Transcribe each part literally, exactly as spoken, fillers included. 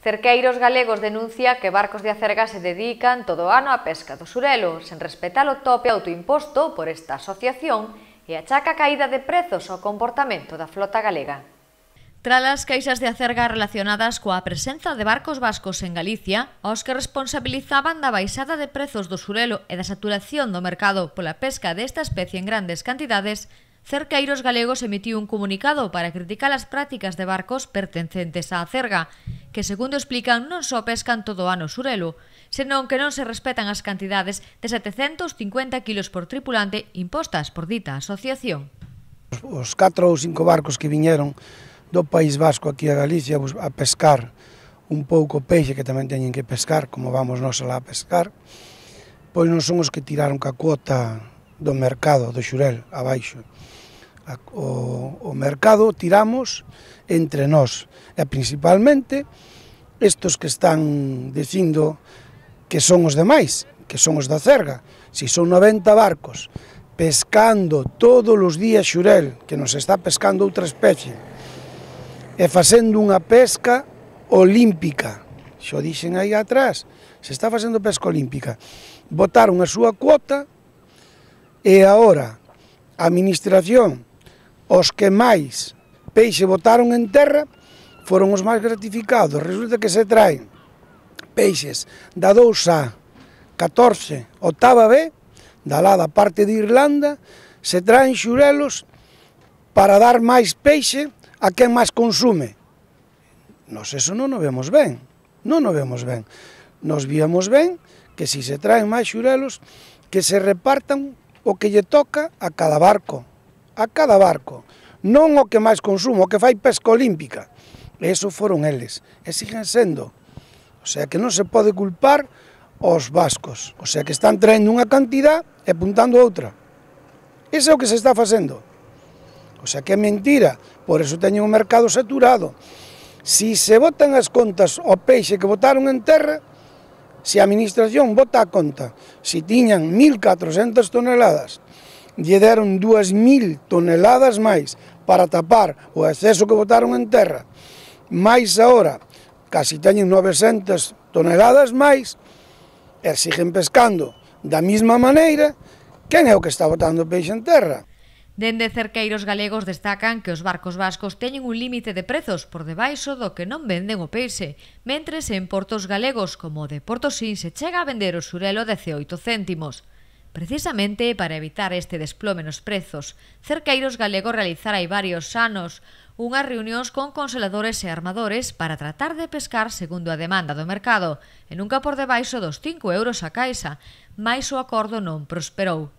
Cerqueiros galegos denuncia que barcos de acerga se dedican todo o ano á pesca do surelo, sen respetar o tope autoimposto por esta asociación e achaca a caída de prezos ao comportamento da flota galega. Tras as queixas de acerga relacionadas coa presenza de barcos vascos en Galicia, aos que responsabilizaban da baixada de prezos do surelo e da saturación do mercado pola pesca desta especie en grandes cantidades, Cerqueiros Galegos emitiu un comunicado para criticar as prácticas de barcos pertencentes á acerga, que, segundo explican, non só pescan todo o ano surelo, senón que non se respetan as cantidades de setecentos cincuenta kilos por tripulante impostas por dita asociación. Os catro ou cinco barcos que viñeron do País Vasco aquí a Galicia a pescar un pouco peixe que tamén teñen que pescar, como vamos nós alá a pescar, pois non son os que tiraron ca cuota do mercado do xurel abaixo. O, o mercado tiramos entre nós, e principalmente estos que están dicindo que son os demais, que son os da cerga. Si son noventa barcos pescando todos os días xurel, que nos está pescando outra especie, e facendo unha pesca olímpica, xo dixen aí atrás, se está facendo pesca olímpica, botaron a súa cuota e agora a administración, os que máis peixe botaron en terra, foron os máis gratificados. Resulta que se traen peixes da dous A, catorce, octava B, da lá da parte de Irlanda, se traen xurelos para dar máis peixe a quen máis consume. Nos eso non o vemos ben, non o vemos ben. Nos víamos ben que si se traen máis xurelos, que se repartan o que lle toca a cada barco, a cada barco, non o que máis consumo, o que fai pesca olímpica. E eso foron eles, e siguen sendo. O sea que non se pode culpar aos vascos, o sea que están traendo unha cantidad e apuntando outra. Iso é o que se está facendo. O sea que é mentira, por eso teñen un mercado saturado. Si se botan as contas ao peixe que botaron en terra, se a administración bota a conta, si tiñan mil catrocentas toneladas, lle deron dúas mil toneladas máis para tapar o exceso que botaron en terra, máis agora, casi teñen novecentas toneladas máis, e siguen pescando da mesma maneira, quen é o que está botando peixe en terra? Dende Cerqueiros Galegos destacan que os barcos vascos teñen un límite de prezos por debaixo do que non venden o peixe, mentres en portos galegos como o de Portosín se chega a vender o surelo dezaoito céntimos. Precisamente para evitar este desplome nos prezos, Cerqueiros Galegos realizara hai varios anos unhas reunións con congeladores e armadores para tratar de pescar segundo a demanda do mercado, e nunca por debaixo dos cinco euros a caixa, mais o acordo non prosperou.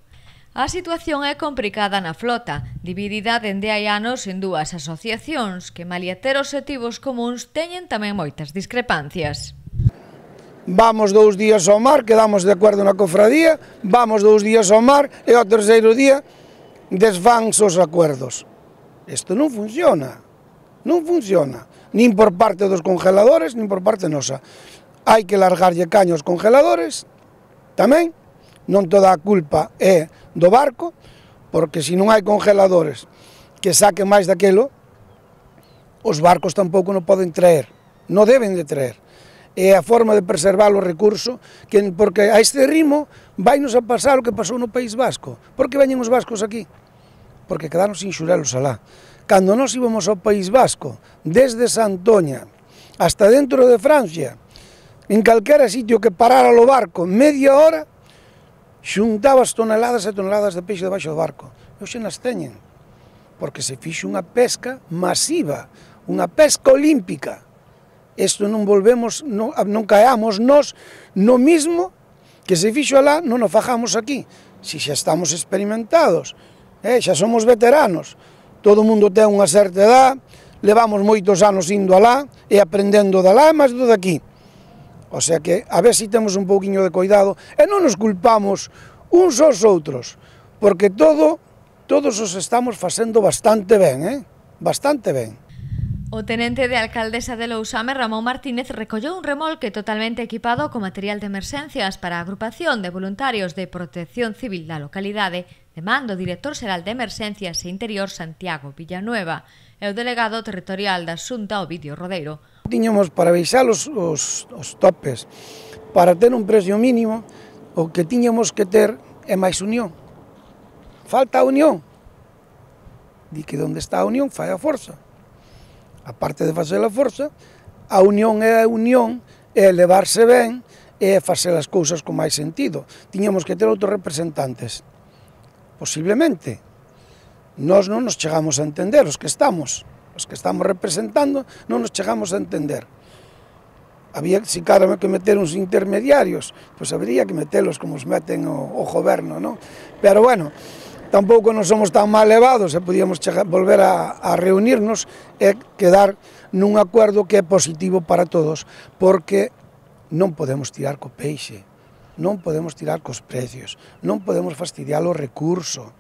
A situación é complicada na flota, dividida dende hai anos en dúas asociacións que, malia ter obxectivos comuns, teñen tamén moitas discrepancias. Vamos dous días ao mar, quedamos de acordo na cofradía, vamos dous días ao mar e ao terceiro día desfanse os acuerdos. Isto non funciona, non funciona, nin por parte dos congeladores, nin por parte nosa. Hai que largarlle caño aos congeladores, tamén, non toda a culpa é do barco, porque se non hai congeladores que saquen máis daquilo, os barcos tampouco non poden traer, non deben de traer. É a forma de preservar o recurso, que, porque a este ritmo vainos a pasar o que pasou no País Vasco. Por que veñen os vascos aquí? Porque quedaron sin xurelos alá. Cando nós íbamos ao País Vasco, desde Santoña hasta dentro de Francia, en calquera sitio que parara o barco media hora, xuntabas toneladas e toneladas de peixe debaixo do barco. E hoxe nas teñen, porque se fixo unha pesca masiva, unha pesca olímpica. Isto non volvemos, non, non caemos nós no mismo que se fixo alá, non o fajamos aquí. Si xa estamos experimentados, eh, xa somos veteranos, todo o mundo ten unha certa edad, levamos moitos anos indo alá e aprendendo de alá e máis do de aquí. O sea que a ver si temos un pouquiño de cuidado e non nos culpamos uns aos outros, porque todo, todos os estamos facendo bastante ben, eh? Bastante ben. O tenente de alcaldesa de Lousame, Ramón Martínez, recolleu un remolque totalmente equipado con material de emerxencias para a agrupación de voluntarios de protección civil da localidade, de mando do director xeral de Emerxencias e Interior Santiago Villanueva e o delegado territorial da Xunta Ovidio Rodeiro. Tiñamos para baixar os, os, os topes, para ter un precio mínimo, o que tiñamos que ter é máis unión. Falta a unión. Di que onde está a unión fai a forza. A parte de facer a forza, a unión é a unión, é levarse ben, é facer as cousas con máis sentido. Tiñamos que ter outros representantes. Posiblemente. Nós non nos chegamos a entender, os que estamos, os que estamos representando, non nos chegamos a entender. Había, si claro, que meter uns intermediarios, pois habría que metelos como os meten o, o goberno, non? Pero bueno, tampouco non somos tan mal levados e podíamos chegar, volver a, a reunirnos e quedar nun acuerdo que é positivo para todos, porque non podemos tirar co peixe, non podemos tirar cos precios, non podemos fastidiar o recurso.